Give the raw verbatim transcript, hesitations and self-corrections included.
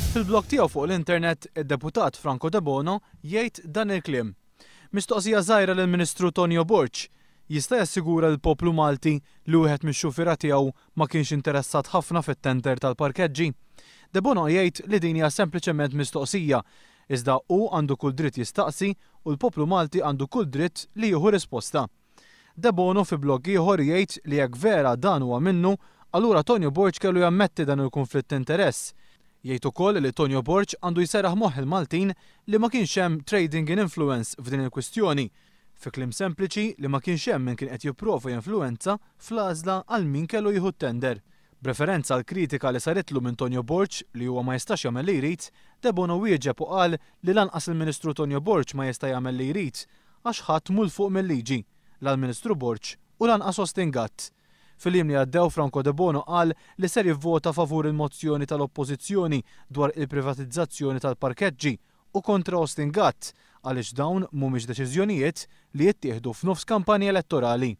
Fil-blog tiegħu fuq l-internet, id-deputat Franco Debono jgħid dan il-kliem. Mistoqsija żgħira lill-Ministru Tonio Borg. Jista' jassigura l-poplu Malti li wieħed mix-xufiera tiegħu ma kienx interessat ħafna fit-tender tal-parkeġġi? Debono jgħid li din hija sempliċement mistoqsija, iżda hu għandu kull dritt jistaqsi u l-poplu Malti għandu kull dritt li jieħu risposta. Debono fi blog ieħor jgħid li jekk vera dan huwa minnu, allura Tonio Borg kellu jammetti dan il-konflitt interess. Jgħid ukoll li Tonio Borg għandu jserraħ moħħ il-Maltin li ma kienx hemm trading in influence f'din il-kwistjoni. Fi kliem sempliċi li ma kienx hemm min kien qed jipprova jinfluenza fl-għażla għal min kellu jieħu tender. B'referenza għal kritika li saritlu minn Tonio Borg li huwa ma jistax jagħmel li jrid, Debono wieġeb u qal li lanqas il-Ministru Tonio Borg ma jista' jagħmel li jrid għax ħadd mhu 'l fuq mill-liġi, la l-Ministru Borg u lanqas Austin Gatt. Fil-jiem li għaddew Franco Debono qal li ser jivvota favur il-mozzjoni tal-Oppożizzjoni dwar il-privatizzazzjoni tal-parkeġġi u kontra Austin Gatt għaliex dawn mhumiex deċiżjonijiet li jittieħdu f'nofs kampanja elettorali.